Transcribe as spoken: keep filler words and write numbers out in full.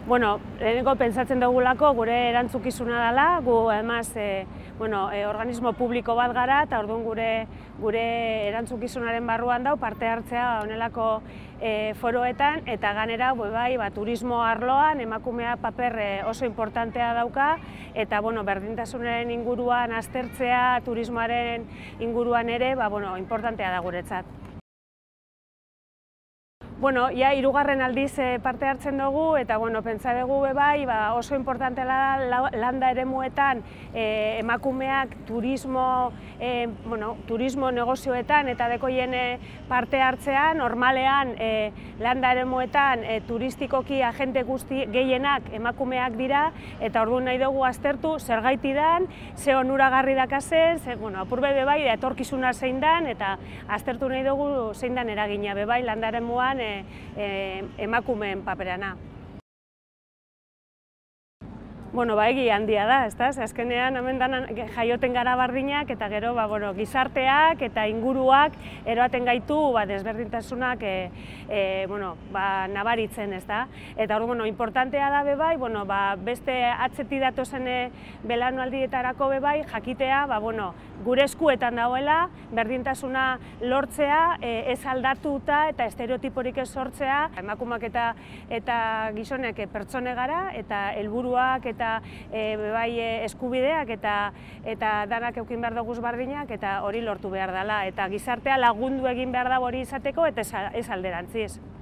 Bueno, lehenengo pentsatzen dugulako gure erantzukizuna dela, gu además e, bueno, e, organismo publiko bat gara eta orduan gure gure erantzukizunaren barruan dau parte hartzea honelako e, foroetan eta ganera bai, ba, turismo arloan emakumea paper e, oso importantea dauka eta bueno, berdintasunaren inguruan aztertzea, turismoaren inguruan ere, ba, bueno, importantea da guretzat. Bueno, ja, hirugarren aldiz parte hartzen dugu eta bueno, pentsa dugu bai, ba, oso importantea da landa eremuetan e, emakumeak turismo, e, bueno, turismo negozioetan eta dekoien parte hartzea, normalean e, landa eremuetan e, turistikoki agente guzti gehienak emakumeak dira eta orduan nahi dugu aztertu zergaiti dan, ze onuragarri dakazen, ze, bueno, apurbe bebai etorkizuna zein dan eta aztertu nahi dugu zein dan eragina bebai landa eremuan E, e, emakumeen paperana. Bueno, ba, egi handia da, ezta? Azkenean hemen jaioten gara bardinak eta gero ba, bueno, gizarteak eta inguruak eroaten gaitu ba, desberdintasunak e, e, bueno, ba, nabaritzen, ezta? Eta hor, bueno, importantea da bebai, bueno, ba, beste atzetik datozen belaunaldietarako bebai jakitea, ba, bueno, gure eskuetan dagoela, berdintasuna lortzea, e, ez aldatuta eta estereotiporik ez sortzea, emakumeak eta eta gizonek pertsone gara eta helburuak eta e, bai eskubideak eta eta danak eukin behar duguz bardinak eta hori lortu behar dela eta gizartea lagundu egin behar da hori izateko eta ez alderantziz.